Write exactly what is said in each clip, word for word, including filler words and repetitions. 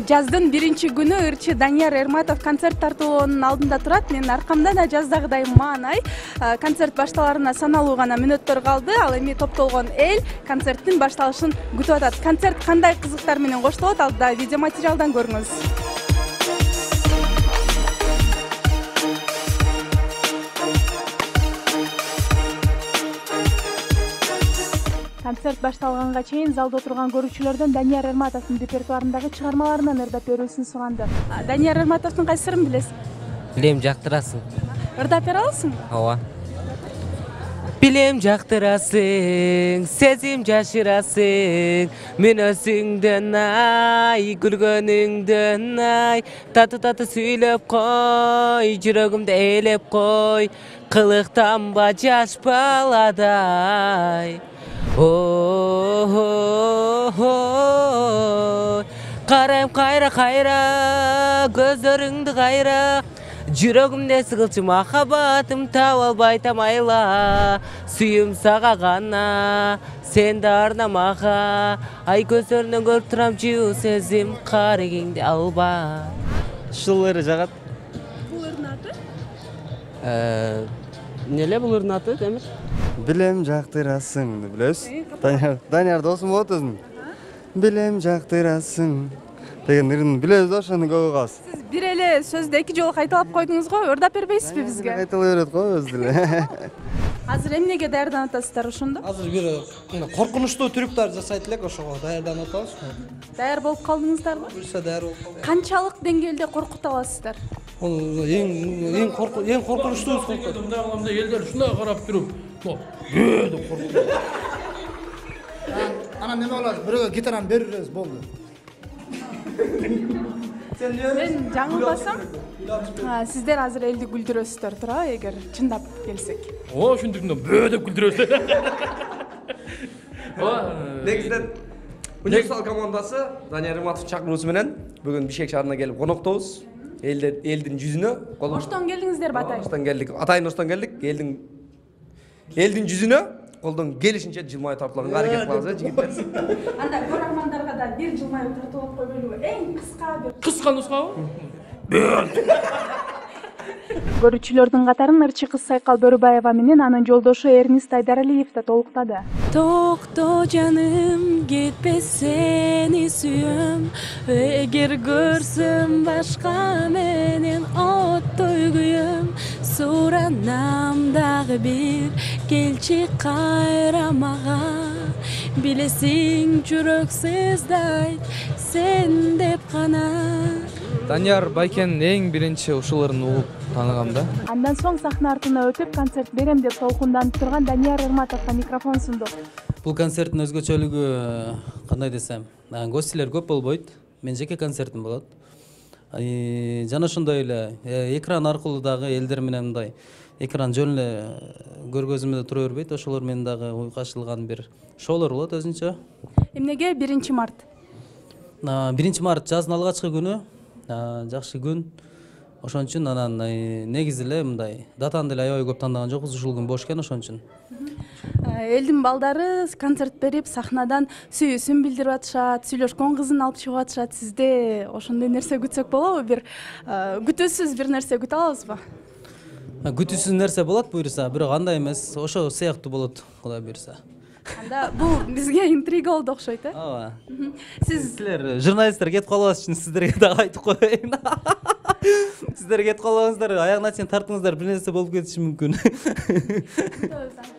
Жаздын биринчи күнү ырчы Данияр Эрматов концерт тартуулоонун алдында турат. Менин аркамда да жаздагыдай маанай. Концерт башталарына саналуу гана мүнөттөр калды. Ал эми топтолгон эл концерттин башталышын күтүп атат. Концерт кандай кызыктар менен коштолот? Ал да видео материалдан көрүңүз. Концерт башталганга чейин залда отурган көрүүчүлөрдөн Данияр Эрматовдун репертуарындагы чыгармаларынан ырдап берүүсүн суганды. Данияр Эрматовдун кайсы сырын билесиң? Билем, жактырасың. Ырдап бере аласың? Ооба. Билем, жактырасың, сезим жашырасың, мүнөзүңдөн ай, күлгөнүңдөн ай, тату-тату сүйлөп кой, жүрөгүмдү ээлеп кой, кылыктанба жаш баладай. О-о-о-о, карайм кайра-кайра, көздөрүңдү кайра, жүрөгүмдө сыгылчы махаббатым таап албай тамайла, сүйүм сага гана, сен да арна мага, ай көздөрүнөн көрүп турам жуу сезим, карегиңди алба. Ушул ыры жагат. Бул ырдын аты? Эмне эле бул ырдын аты, Темир? Билем, жактырасың, деп билебиз. Данияр, Данияр досум болот өзүнүн. Билем, жактырасың деген ырын билебиз да, ошону көп угабыз. Сиз бир эле сөздү эки жолу кайталап койдуңуз го, ырдап бербейсизби бизге? Кайталай берет го өзү деле. Азыр эмнеге даярданып атасыздар ошондо? Азыр бир коркунучтуу трюктар жасайт элек, ошого даярданып атабыз. Даяр болуп калдыңыздарбы? Буюрса даяр болуп калдык. Канчалык деңгээлде коркута аласыздар? Бул эң эң корку эң коркунучтуубуз коркот. Мындай кыламда элдер ушундай карап туруп, бөө деп коркуп. Анан неме болот? Бирөөгө гитараны берип беребиз, болду. Мен жаңылбасам, сиздер азыр элди күлдүрөсүздөр туурабы, эгер чындап келсек? О, ушундуктан бөө деп күлдүрөбүз. Негизинен универсал командасы Данияр Эрматов чакыруусу менен бүгүн Бишкек шаарына келип коноктобуз. Элдер элдин жүзүнө. Оштон келдиңиздерби атайын? Оштон келдик. Атайын Оштон келдик. Элдин элдин жүзүнө колдон келишинче жылмай тартуулганга аракет кылабыз, жигиттер. Анда көрөрмандарга да бир жылмаюу тартуулап койгойлубу? Эң кыска бир. Кыска нускабы? Көрүүчүлөрдүн катарын ырчы кыз Сайкал Бөрүбаева менен анын жолдошу Эрнист Айдаралиев да толуктады. Токто жаным, кетпе сени сүйөм, эгер көрсөм башка менен оттой күйөм, суранам дагы бир, келчи кайра мага, билесиң жүрөксүз дайт, сен деп гана. Данияр Байкен эң биринчи ушуларын угуп тааныгам да. Андан соң сахна артына өтүп концерт берем деп толкунданып турган Данияр Эрматовго микрофон сунду. Бул концерттин өзгөчөлүгү кандай десем, гостилер көп болбойт. Мен жеке концертим болот. Жана ошондой эле экран аркылуу дагы элдер менен мындай экран жөн эле көргөзмөдө тура бербейт. Ошолор менен дагы уйгашылган бир шоулор болот өзүнчө. Эмнеге биринчи март? биринчи март жаздын алгачкы күнү, жакшы күн. Ошон үчүн анан негизи эле мындай датаны деле аябай көп тандаган жокпуз, ушул күн бош экен, ошон үчүн. Элдин балдары концерт берип, сахнадан сүйүүсүн билдирип атышат, сүйлөшкөн кызын алып чыгып атышат. Сизде ошондой нерсе күтсөк болобу? Бир күтүүсүз бир нерсе күтө алабызбы? Күтүүсүз нерсе болот буюрса, бирок андай эмес, ошо сыяктуу болот, Кудай буюрса. Анда бул бизге интрига болду окшойт, э? Ооба. Сиз силер журналисттер кетип калбаш үчүн сиздерге дагы айтып коеюн. Сиздер кетип калбаңыздар, аягына чейин тартыңыздар, бир нерсе болуп кетиши мүмкүн.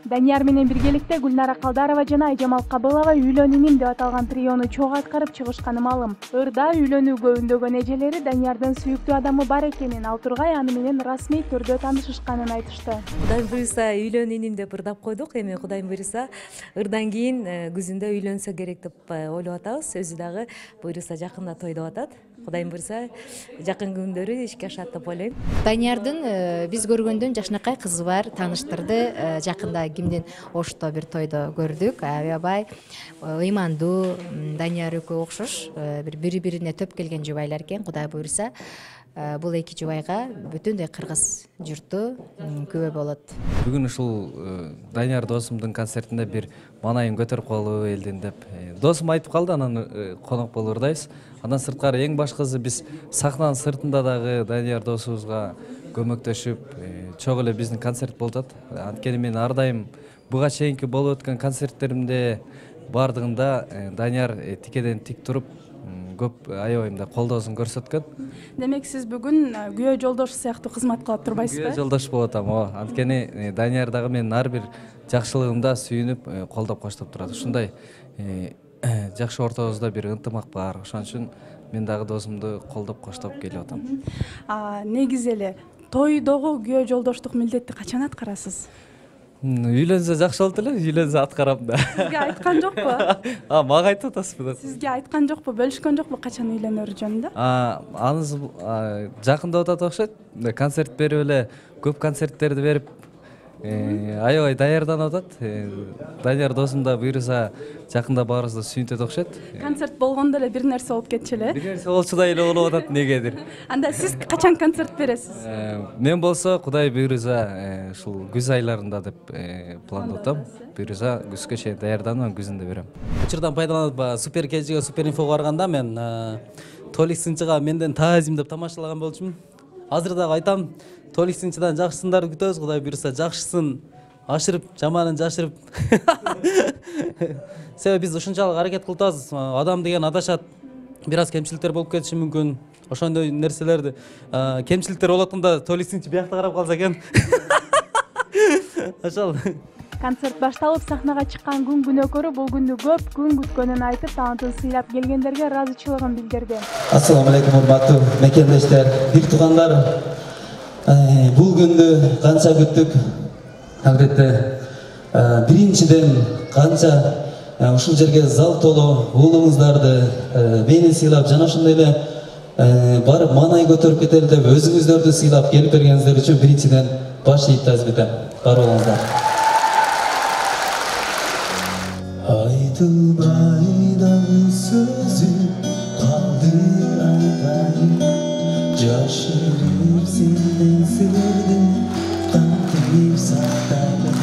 Данияр менен биргеликте Гүлнара Калдарова жана Айжамал Кабылова үйлөн иним деп аталган триону чогуу аткарып чыгышканы маалым. Ырда үйлөнүүгө үндөгөн эжелери Даниярдын сүйүктүү адамы бар экенин, ал тургай аны менен расмий түрдө таанышышканын айтышты. Кудайым буюрса үйлөн иним деп ырдап койдук. Эми Кудайым буюрса ырдан кийин күзүндө үйлөнсө керек деп ойлоп атабыз. Өзү дагы буюрса жакында той деп атат. Кудайым буюрса жакын күндөрү ишке ашат деп ойлойм. Даниярдын биз көргөндөн жакшынакай кызы бар, тааныштырды. Жакында кимдин Ошто бир тойдо көрдүк. Аябай ыймандуу, Данияр экөө окшош, бир бири-бирине төп келген жубайлар экен. Кудай буюрса бул эки жубайга бүтүндөй кыргыз журту күбө болот. Бүгүн ушул Данияр досумдун концертинде бир маанайын көтөрүп калуу элдин деп досум айтып калды, анан конок болуп ырдайбыз. Андан сырткары эң башкысы биз сахнанын сыртында дагы Данияр досубузга көмөктөшүп, чогуу эле биздин концерт болуп атат. Анткени мен ар дайым буга чейинки болуп өткөн концерттеримде бардыгында Данияр тикеден тик туруп көп аябайымда колдоосун көрсөткөн. Демек сиз бүгүн күйөө жолдошу сыяктуу кызмат кылып турбайсызбы? Күйөө жолдош болуп атам, ооба. Анткени Данияр дагы менин ар бир жакшылыгымда сүйүнүп, колдоп коштоп турат. Ушундай жакшы ортобузда бир ынтымак бар. Ошон үчүн мен дагы досумду колдоп коштоп келип атам. Негизи эле тойдогу күйөө жолдоштук милдетти качан аткарасыз? Үйлөнсө жакшы болот эле, үйлөнсө аткарам да. Сизге айткан жокпу? А, мага айтып атасызбы? Сизге айткан жокпу, бөлүшкөн жокпу качан үйлөнөрү жөнүндө? А, анысы жакында атат окшойт. Концерт берип эле, көп концерттерди берип, аябай даярданып атат. Данияр досум да буйруса жакында баарыбызды сүйүнтөт окшойт. Концерт болгондо эле бир нерсе болуп кетчү эле. Бир нерсе болчудай эле болуп атат негедир. Анда сиз качан концерт бересиз? Мен болсо Кудай буйруса ушул күз айларында деп пландап атам. Буйруса күзгө чейин даярданып, күзүндө берем. Учурдан пайдаланып Супер Кежиге, Супер Инфого барганда мен Толик Сынчыга менден таазим деп тамашалаган болчумун. Азыр дагы айтам, Толик Сынчыдан жакшы сындарды күтөбүз. Кудай буйруса жакшысын ашырып, жаманын жашырып. Себеби биз ушунчалык аракет кылып атабыз. Адам деген адашат. Бир аз кемчиликтер болуп кетиши мүмкүн. Ошондой нерселерди, кемчиликтер болуп атканда Толик Сынчы биякта карап калса экен. Ошол. Концерт башталып, сахнага чыккан күн күнөкөрү бул күндү көп күн күткөнүн айтып, таантын сыйлап келгендерге ыраазычылыгын билдирди. Ассаламу алейкум, урматтуу мекендештер, бир туугандар. Бул күндү канча күттүк. Албетте, биринчиден канча ушул жерге зал толуу уулуңуздарды мени сыйлап, жана ошондой эле барып маанай көтөрүп кетели деп өзүңүздөрдү сыйлап келип бергениңиздер үчүн биринчиден баш ийип таазим этем. Бар болуңуздар. Айтылбай дагы сөзү калды айтайын, жашырып сенден сырды кантип сактайын,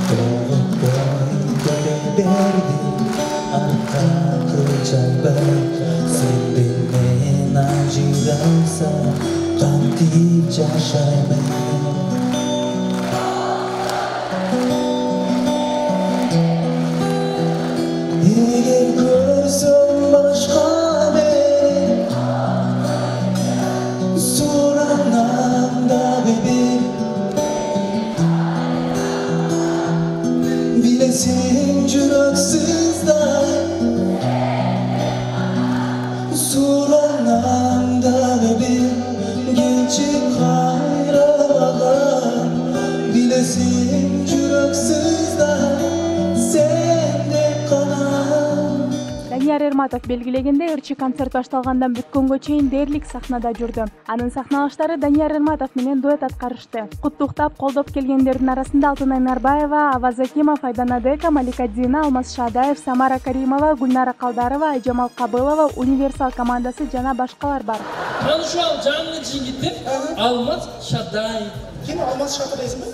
тоготпой көре бердим артка көз албай, сенден мен ажыралса кантип жашаймын. Эгер көрсөм башка мен суранам дагы бир, билесиң жүрөксүз да суранам дагы бир, келчи кайра мага, билесиң жүрөксүз да Данияр Эрматов белгилегендей, ырчы концерт башталгандан бүткөнгө чейин дээрлик сахнада жүрдү. Анын сахналаштары Данияр Эрматов менен дуэт аткарышты. Куттуктап, колдоп келгендердин арасында Алтынай Нарбаева, Аваз Акимов, Айдана Дека, Малика Дина, Алмаз Шаадаев, Самара Каримова, Гүлнара Калдарова, Айжамал Кабылова, Универсал командасы жана башкалар бар. Мен ушул жаңы жигитим Алмаз Шаадаев. Ким Алмаз Шаадаев дейсизби?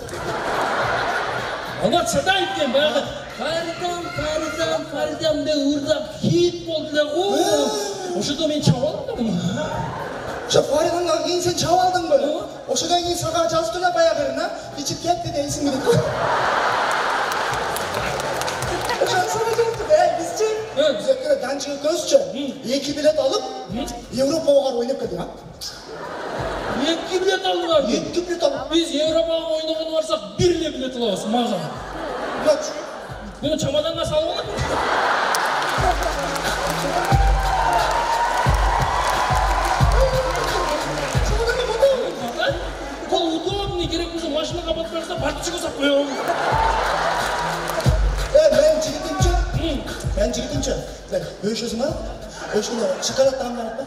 Алмаз Шаадаев деген баягы Фаридам, Фаридам, Фаридам деп ырдап хит болду эле го. Ошодо мен чабып алдым. Ошо Фаридамдан кийин сен чабып алдыңбы? Ошодон кийин сага жазып эле баягына ичип кетти деп эсиңме дейт. Ошон сага жазып эле бизчи, биз экөө данчы көзчү эки билет алып Европага барып ойноп келдик, а? Эки билет алдыңар. Эки билет алып. Биз Европага ойногону барсак бир эле билет алабыз мага. Bunu çamadanla salmalar mı? Kol udobный, gerek olsa maşına kapatırsa partişi koysak koyalım. E, ben jigitimçi. Ben jigitimçi. Öşüsün ha? Öşüsün ha? Şokolad tağımdan atma.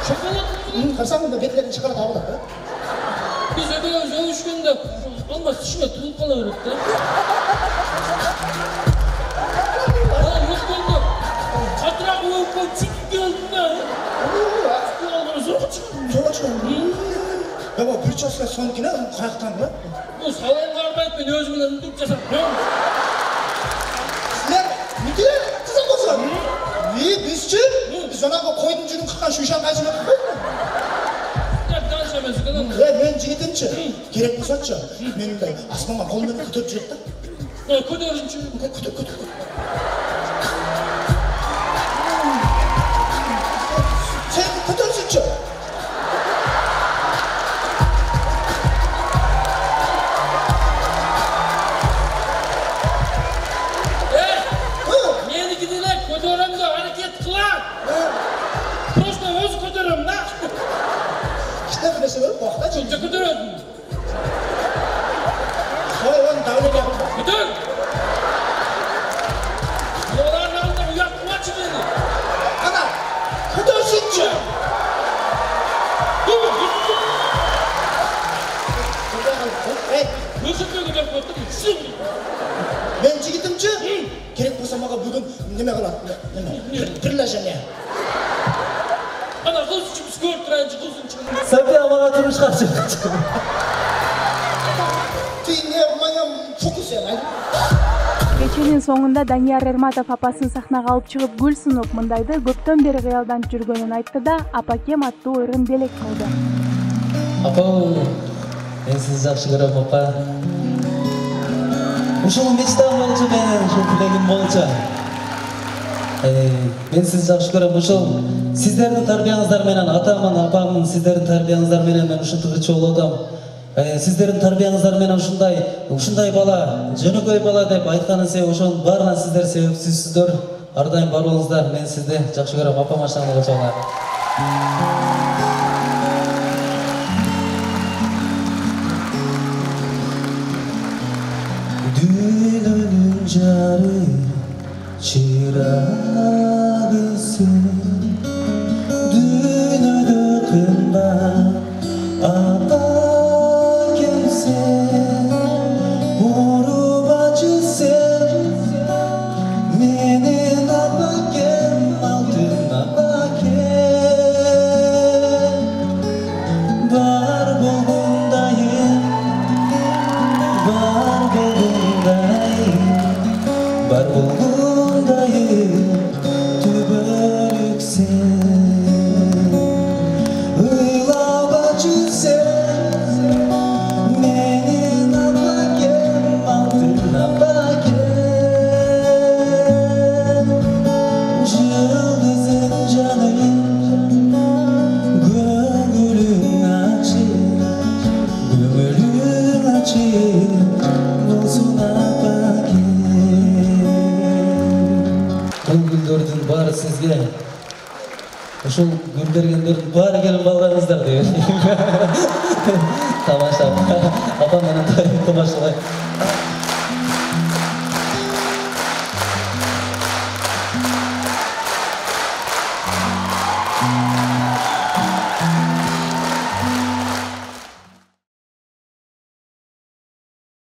Şokolad mı? Karşımda betlerin şokolad tağımdan atma. Biz ödüyoruz, ölüşkünde almaz tişime tulup kalıyoruz da. Ya bu bir çözse sonkine kayaktan mı? Bu salayın karbayıp ben özümden tutup çesem. Sizler müdüre kızım olsun. İyi bizçi. Биз жанагы койдун жүнүн кыркан шуйшан кайсы өтүп Канча эмес экен. Э, мен жигитимчи. Керек болсочу, мен мындай асманга кол менен көтөрүп жүрөт да. Э, көтөрүнчү. Көтөр, көтөр. Sen көтөрсүнчү. Меники деле көтөрөм деп аракет кылам. Просто өзү көтөрөм да. Кичине бир нерсе көрүп бакта Жо көтөрөм. Ой, он давление. Көтөр. Олардын алдында уят кылмачы мени. Ана, көтөрсүнчү. Эй, көтөрүп көтөрүп коеттум. Мен жигитимчи. Керек болсо мага бүгүн неме кылат? Неме? Предложение. Ана кылчы биз көрүп турайынчы кылсынчы. София мага турмушка чыкчы. Ты не в моем фокусе, а? Кеченин соңунда Данияр Эрматов апасын сахнага алып чыгып гүл сунуп мындайды көптөн бери кыялданып жүргөнүн айтты да апакем аттуу ырын белек кылды. Апа, мен сизди жакшы көрөм, апа. Ушул мечтам болчу менин, ушул тилегим болчу. Мен сизди жакшы көрөм. Ушул сиздердин тарбияңыздар менен атамын, апамын, сиздердин тарбияңыздар менен мен ушинтип ырчуу болдум. Сиздердин тарбияңыздар менен ушундай, ушундай бала, жөнөкөй бала деп айтканын себеби ошонун баарына сиздер себепсизсиздер. Ар дайым бар болуңуздар. Мен сизди жакшы көрөм, апам ашаңызга чоңар. Dünönün jары чырагысың дүйнөдө кымбат апакемсең урубачысың менин апакем алтын апакем бар болгондайым бар болгондайым бар болгондайым түбөлүксең ыйлабачы сен менин апакем алтын апакем жылдызым жаным көңүлүң ачык көңүлүң ачык болсун апакем. Бул гүлдөрдүн баары сизге, ушул гүл бергендердин баары келип калганыңыздар деген. Тамаша. Апам менен тамашалайт.